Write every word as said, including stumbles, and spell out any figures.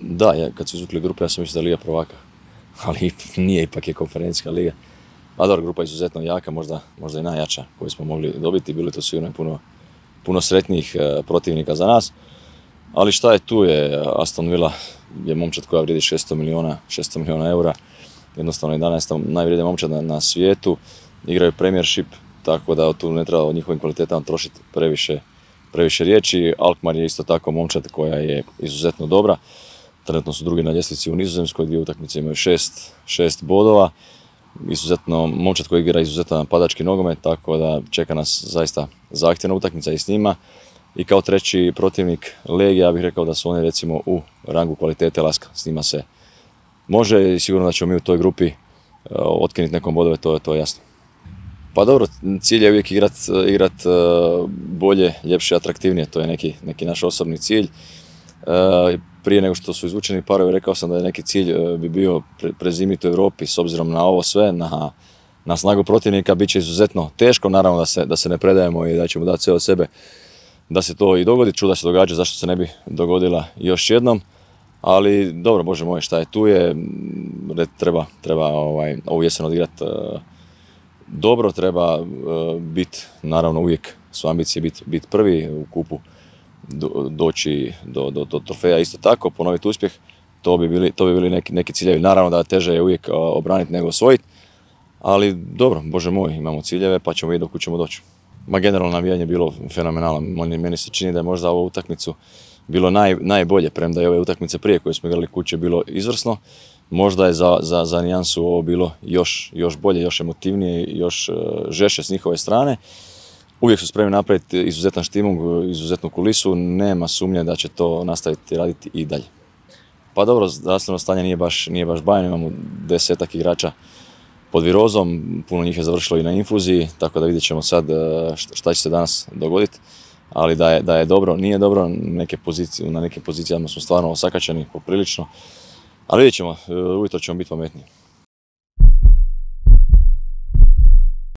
Da, ja, kad su izvukli grupe, ja sam mislio da je Liga prvaka, ali nije, ipak je konferencijska liga. A dobro, grupa je izuzetno jaka, možda, možda i najjača koju smo mogli dobiti, bili to sigurno puno, puno sretnijih e, protivnika za nas. Ali šta je tu je, Aston Villa je momčad koja vrijedi šesto milijuna eura, jednostavno jedanaesta najvrijednija momčad na, na svijetu, igraju Premiership, tako da tu ne treba o njihovim kvalitetama trošiti previše, previše riječi. Alkmaar je isto tako momčad koja je izuzetno dobra, trenutno su drugi na ljestvici u Nizozemskoj, dvije utakmice imaju šest, šest bodova. Izuzetno, momčad koji igra izuzetno napadački nogomet, tako da čeka nas zaista zahtjevna utakmica i s njima. I kao treći protivnik Legija, ja bih rekao da su oni recimo u rangu kvalitete Laska, s njima se može i sigurno da ćemo mi u toj grupi uh, otkinuti nekom bodove, to, to je jasno. Pa dobro, cilj je uvijek igrat, igrat uh, bolje, ljepše, atraktivnije, to je neki, neki naš osobni cilj. Uh, prije nego što su izvučeni parovi, rekao sam da je neki cilj uh, bi bio pre, prezimiti u Europi, s obzirom na ovo sve, na, na snagu protivnika, bit će izuzetno teško, naravno da se, da se ne predajemo i da ćemo dati sve od sebe da se to i dogodi. Čuda se događa, zašto se ne bi dogodila još jednom. Ali dobro, bože moj, šta je tu je, treba, treba ovaj, ovu jesen odigrati uh, dobro, treba uh, biti, naravno uvijek su ambicije biti bit prvi u kupu, do, doći do, do, do trofeja isto tako, ponoviti uspjeh, to bi bili, to bi bili neki, neki ciljevi. Naravno da teže je uvijek uh, obraniti nego osvojiti, ali dobro, bože moj, imamo ciljeve pa ćemo vidjeti do kuda ćemo doći. Ma generalno navijanje je bilo fenomenalno, meni se čini da je možda ovu utakmicu bilo naj, najbolje, premda je ove utakmice prije koje smo igrali kuće bilo izvrsno. Možda je za, za, za nijansu ovo bilo još, još bolje, još emotivnije, još uh, žešće s njihove strane. Uvijek su spremni napraviti izuzetan štimung, izuzetnu kulisu, nema sumnje da će to nastaviti raditi i dalje. Pa dobro, zdravstveno stanje nije baš, nije baš bajno, imamo desetak igrača pod virozom, puno njih je završilo i na infuziji, tako da vidjet ćemo sad šta će se danas dogoditi. Ali da je, da je dobro, nije dobro, neke pozicije, na nekim pozicijama smo stvarno osakaćeni poprilično, ali vidjet ćemo, ujutro ćemo biti pametniji.